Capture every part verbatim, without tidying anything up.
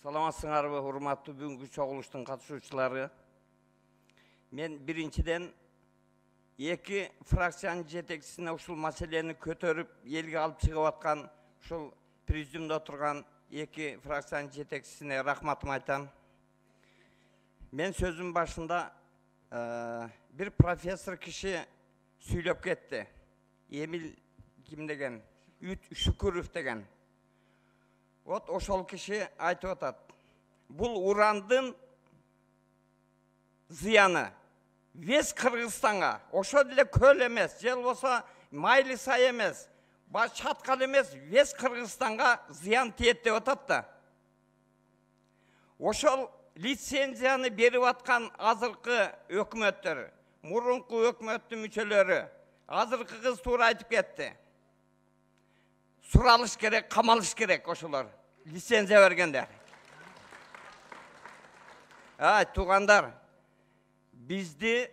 Саламатсыңарбы, урматтуу бүгүнкү чогулуштун катышуучулары. Мен биринчиден эки фракциянын жетекчисине ушул маселени көтөрүп, элге алып чыгып аткан ушул президиумда отурган эки фракциянын жетекчисине рахматымды айтам. Мен сөзүм башында бир профессор киши сүйлөп кетти. Эмил ким деген? Шүкүров деген. Вот ошол киши айтып атат. Бул урандын зыяны вес Кыргызстанга, ошол эле көл эмес, же болбосо Майли сай эмес, баш чаткал эмес, вес Кыргызстанга зыян тиет деп атат да. Ошол лицензияны берип аткан азыркы өкмөттөр, мурунку өкмөттүн мүчөлөрү, азыркы кыз туура айтып кетти. Суралыш керек, камалыш керек ошолор. Лицензия бергендер. Ай, туугандар, бизди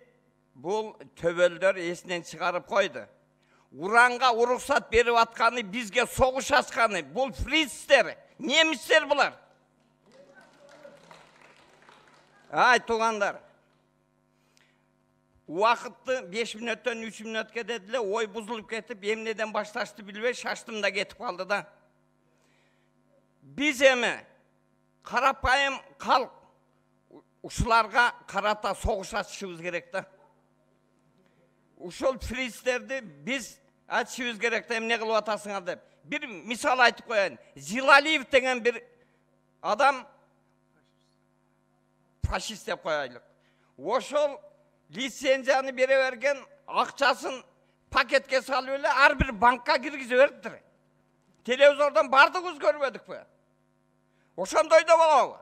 бул төбөлдөр эсинен чыгарып койду. Уранга уруксат берип атканы, бизге согуш ачканы, бул фрицтер, немистер булар. Ай, туугандар, убакытты беш мүнөттөн үч мүнөткө дедиле, ой бузулуп кетип, эмнеден башташты билбей шаштым да кетип калды да. Биз эми карапайым калк ушуларга карата согуш ачышыбыз керек да. Ушул фрицтерди биз ачышыбыз керек да, эмне кылып атасыңар деп. Бир мисал айтып коеюн. Зилалиев деген бир адам фашист деп коелук. Ошол лицензияны бере берген, акчасын пакетке салып эле ар бир банкка киргизе бериптир. Телевизордон бардыгыбыз көрбөдүкпү? Ошондой да болобу?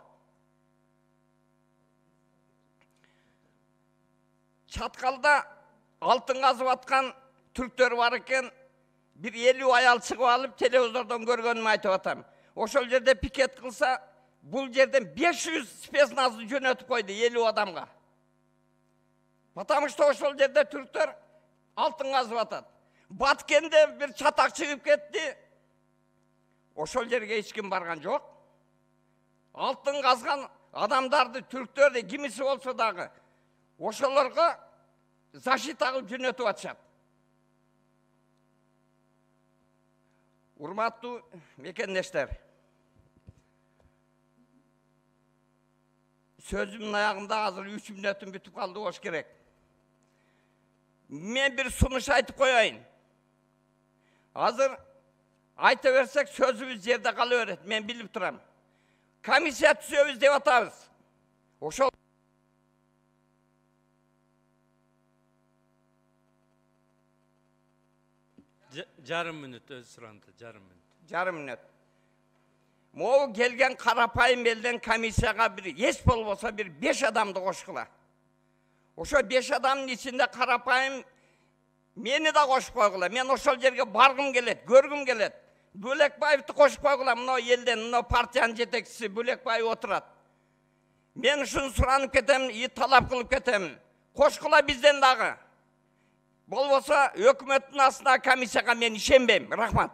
Чаткалда алтын казып аткан түрктөр бар экен, бир элүү аял чыгып алып телевизордон көргөнүмү айтып атам. Ошол жерде пикет кылса, бул жерден беш жүз спецназды жөнөтүп койду элүү адамга. Потому что ошол жерде түрктөр алтын казып атат. Баткенде бир чатак чыгып кетти. Ошол жерге эч ким барган жок. Алтын казган адамдарды, түрктөрдү кимиси болсо дагы ошолорго защита кылып жөнөтүп атышат. Урматтуу мекендештер, сөзүмдүн аягында азыр үч мүнөтүм бүтүп калды болуш керек. Мен бир сунуш айтып коеюн. Азыр айта берсек сөзүбүз жерде кала берет, мен билип турам. Комиссия түзөбүз деп атабыз. Ошол жарым мүнөт өз суранды, жарым мүнөт. Жарым мүнөт. Могу келген карапайым элден комиссияга бир эч болбосо бир беш адамды кошкула. Ошо беш адамдын ичинде карапайым мени да кошуп койгула. Мен ошол жерге баргым келет, көргүм келет. Бөлекбаевди кошуп койгула, мына элден, мына партиянын жетекчиси Бөлекбаев отурат. Мен ушуну суранып кетем, и талап кылып кетем. Кошкула бизден дагы. Болбосо өкмөттүн астына комиссияга мен ишенбейм. Рахмат.